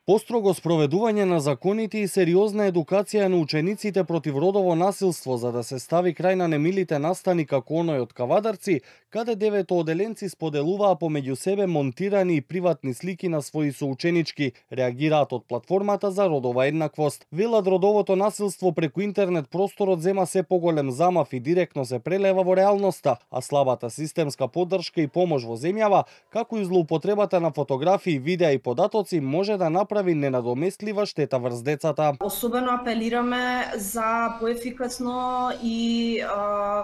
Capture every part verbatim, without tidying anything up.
Построго спроведување на законите и сериозна едукација на учениците против родово насилство за да се стави крај на немилите настани како оној од Кавадарци, каде деветооделенци споделуваа помеѓу себе монтирани и приватни слики на своји соученички, реагираат од платформата за родова еднаквост. Велат родовото насилство преку интернет просторот зема се поголем замав и директно се прелева во реалноста, а слабата системска поддршка и помош во земјава, како и злоупотребата на фотографии, видеа и податоци може да направи прави ненадоместлива штета врз децата. Особено апелираме за поефикасно и а,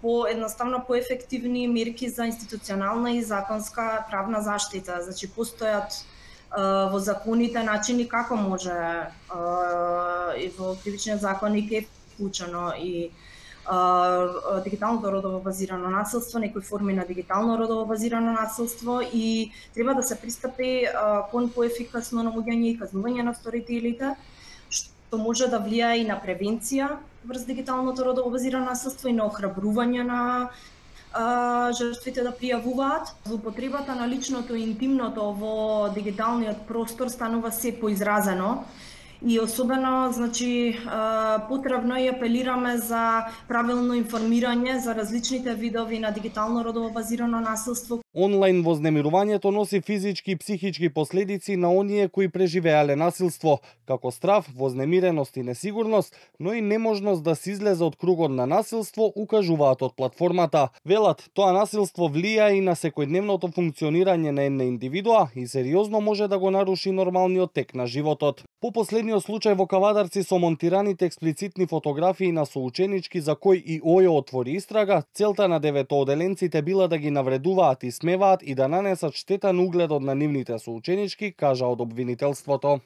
по едноставно поефективни мерки за институционална и законска правна заштита. Значи постојат а, во законите начини како може а, и во кривичниот законник е вклучено и Uh, дигиталното родово базирано насилство, некои форми на дигитално родово базирано насилство и треба да се пристапи uh, кон поефикасно наоѓање и казнување на вторителите, што може да влијае и на превенција врз дигиталното родово базирано насилство и на охрабрување на uh, жртвите да пријавуваат. Злоупотребата на личното и интимното во дигиталниот простор станува се поизразено. И особено, значи, потребно и апелираме за правилно информирање за различните видови на дигитално родово базирано насилство. Онлайн вознемирувањето носи физички и психички последици на оние кои преживеале насилство, како страв, вознемиреност и несигурност, но и неможност да се излезе од кругот на насилство, укажуваат од платформата. Велат, тоа насилство влија и на секојдневното функционирање на една индивидуа и сериозно може да го наруши нормалниот тек на животот. По последниот случај во Кавадарци со монтираните експлицитни фотографии на соученички за кој и ОЈО отвори истрага, целта на деветооделенците била да ги навредуваат и смеваат и да нанесат штета на угледот на нивните соученички, кажа од обвинителството.